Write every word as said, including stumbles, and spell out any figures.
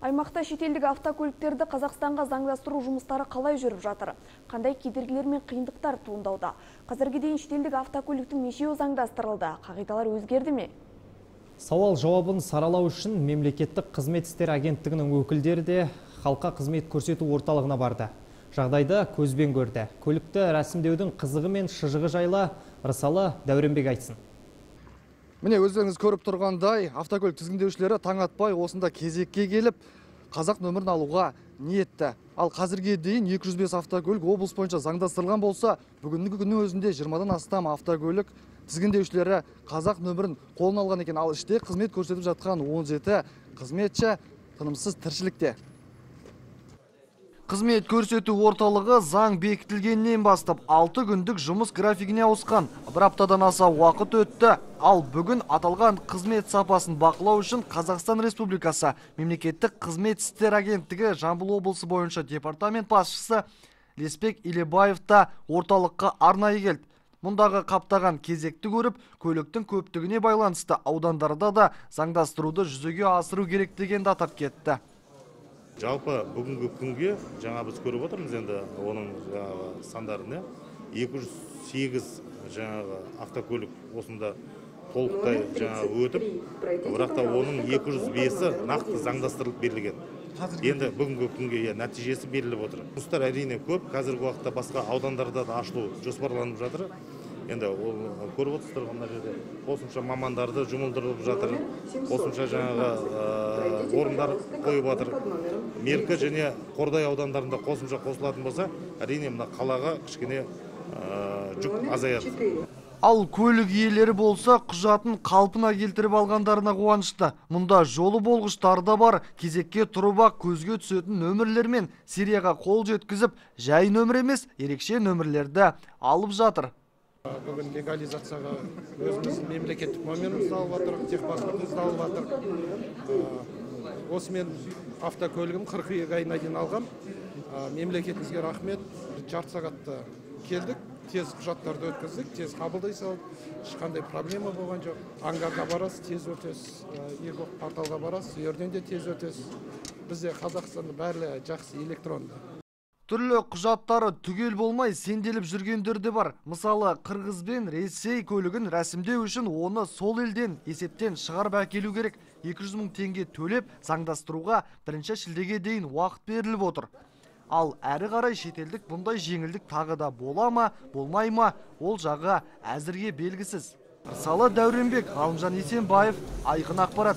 Аймақта шетелдік автокөліктерді Қазақстанға заңдастыру жұмыстары қалай жүріп жатыр? Қандай кедергілер мен қиындықтар туындауда? Қазірге дейін шетелдік автокөліктің нешеуі заңдастырылды? Қағидалар өзгерді ме? Сауал жауабын саралау үшін мемлекеттік қызмет істері агенттігінің өкілдері де халыққа қызмет көрсету орталығына барды. Жағдайды көзбен көрді. Көлікті рәсімдеудің қызығы мен шыжығы жайлы Рысалы Дәуренбек айтсын. Міне өздеріңіз көріп тұрғандай, автокөлік тізгіндеушілері таң атпай осында кезекке келіп, қазақ нөмірін алуға ниетті. Ал қазірге дейін екі жүз бес автокөлік облыс бойынша заңдастырылған болса, бүгінгі күннің өзінде жиырмадан астам автокөлік тізгіндеушілері қазақ нөмірін қолына алған екен. Ал іште қызмет көрсетіп жатқан он жеті қызметші тынымсыз тіршілікте. Қызмет көрсету орталығы заң бекітілгеннен бастап алты күндік жұмыс графигіне ауысқан. Бір аптадан аса уақыт өтті. Ал бүгін аталған қызмет сапасын бақылау үшін Қазақстан Республикасы мемлекеттік қызмет істері агенттігі Жамбыл облысы бойынша департамент басшысы Леспек Илебаев та орталыққа арнайы келді. Мұндағы қаптаған кезекті көріп, көліктің көптігіне байланысты аудандарда да заңдастыруды жүзеге асыру керек дегенді атап кетті. Жалпы бүгінгі күнге жаңа біз көріп отырмыз енді оның сандарына екі жүз сегіз жаңағы автокөлік осында толықтай жаңағы өтіп, бірақ та оның екі жүз бесі нақты заңдастырылып берілген. Енді бүгінгі күнге нәтижесі беріліп отыр. Жұмыстар әрине көп, қазіргі уақытта басқа аудандарда да ашылу жоспарланып жатыр. Енді ол көріп отырсыздар мына жерде қосымша мамандарды жұмылдырылып жатыр, қосымша жаңағы орындар қойып жатыр. Меркі және Қордай аудандарында қосымша қосылатын болса, әрине мына қалаға кішкене жүк азаяды. Ал көлік иелері болса, құжатын қалпына келтіріп алғандарына қуанышты. Мұнда жолы болғыштар да бар, кезекке тұрып ақ көзге түсетін нөмірлер мен серияға қол жеткізіп, жай нөмір емес, ерекше нөмірлерді алып жатыр. Бүгін легализацияға өзіміздің мемлекеттік номерімізді алып жатыр, техпаспортымызды алып жатыр. Осымен автокөлігім қыркүйек айына дейін алғам. Мемлекетімізге рахмет. Жарты сағатта келдік, тез құжаттарды өткіздік, тез қабылдай салып, ешқандай проблема болған жоқ. Аңғарға барасыз, тез өтесіз, екі порталға барасыз, ерден де тез өтесіз. Бізде Қазақстанда бәрі жақсы электронды. Түрлі құжаттары түгел болмай сенделіп жүргендер де бар. Мысалы, Қырғыз бен Ресей көлігін рәсімдеу үшін оны сол елден есептен шығарып әкелу керек. екі жүз мың теңге төлеп заңдастыруға бірінші шілдеге дейін уақыт беріліп отыр. Ал әрі қарай шетелдік бұндай жеңілдік тағы да бола ма, болмай ма, ол жағы әзірге белгісіз. Рысалы Дәуренбек, Ғалымжан Есенбаев, Айқын ақпарат.